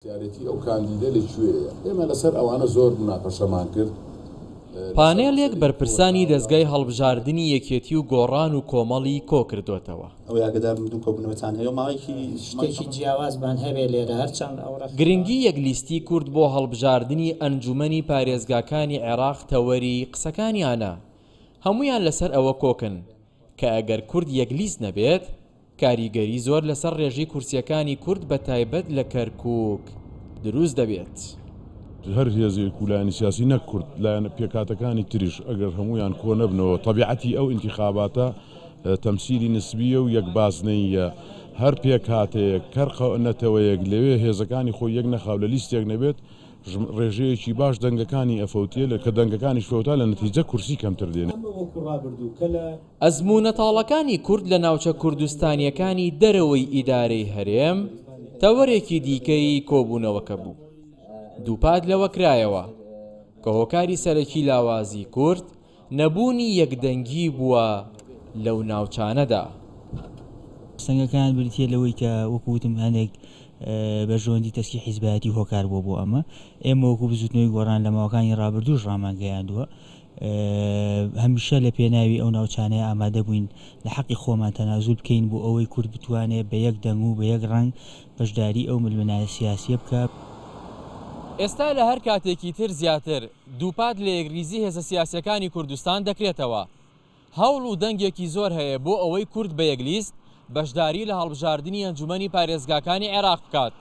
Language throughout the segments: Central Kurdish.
سیارێتی ئەو کاندیدە لە کوێیە؟ ئێمە لەسەر ئەوانە زۆر موناقەشەمان کرد. پانێلێک بەرپرسانی دەزگای هەڵبژاردنی یەکێتی و گۆڕان و کۆمەڵی کۆکردۆتەوە. ئەوەی ئاگەدار بم دوو کۆبوونەوەتان هەیە و ماوەیەکی. شتێکی جیاوازمان هەبێ لێرە هەرچەند ئەو ڕێکخراوە. گرنگی یەک لیستی کورد بۆ هەڵبژاردنی ئەنجومەنی پارێزگاکانی عێراق تەوەری قسەکانیانە، هەموویان لەسەر ئەوە کۆکن کە ئەگەر کورد یەک لیست نەبێت، کاریگەری زۆر لەسەر ڕێژەی کورسییەکانی کورد بە تایبەت لە کەرکووک دروست دەبێت. هەر هێزێک و لایەنی سیاسی نەک کورد، لایەنە پێکهاتەکانی تریش ئەگەر هەموویان کۆ نەبنەوە، تەبیعەتی ئەو ئینتیخاباتە تەمسیلی نسبییە و یەک بازنەییە، هەر پێکهاتەیەک، هەر نەتەوەیەک لەوێ هێزەکانی خۆی یەک نەخا و لە لیستێک نەبێت، ڕێژەیەکی باش دەنگەکانی ئەفەوتێ، کە دەنگەکانیش فەوتا لە نەتیجە کورسی کەمتر دێنێ. ئەزموونە تاڵەکانی کورد لە ناوچە کوردستانییەکانی دەرەوەی ئیدارەی هەرێم تەوەرێکی دیکەی کۆبوونەوەکە بوو. دووپات لەوە کرایەوە کە هۆکاری سەرەکی لاوازی کورد نەبوونی یەکدەنگی بووە لەو ناوچانەدا. سەنگەکان بریتییە لەوەی کە وەکو وتم هەندێک بەرژەوەندی تەسکی حیزبایەتی هۆکار بووە بۆ ئەمە. ئێمە وەکو بزوتنەوەی گۆڕان لە ماوەکانی ڕابردووش ڕامانگەیاندووە هەمیشە لە پێناوی ئەو ناوچانەیە ئامادە بووین لە حەقی خۆمان تەنازول بکەین بۆ ئەوەی کورد بتوانێت بە یەک دەنگ و بە یەک ڕەنگ بەشداری ئەو ململانێ سیاسییە بکات. ئێستا لە هەر کاتێکی تر زیاتر دووپات لە یەکریزی هێزە سیاسییەکانی کوردستان دەکرێتەوە. هەوڵ و دەنگێکی زۆر هەیە بۆ ئەوەی کورد بە یەک لیست بەشداری لە هەڵبژاردنی ئەنجومەنی پارێزگاکانی عێراق بکات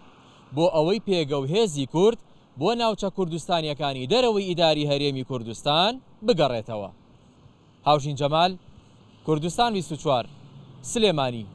بۆ ئەوەی پێگە و هێزی کورد بۆ ناوچە کوردستانییەکانی دەرەوەی ئیداری هەرێمی کوردستان بگەڕێتەوە. هاوژین جەمال، کوردستان 24، سلێمانی.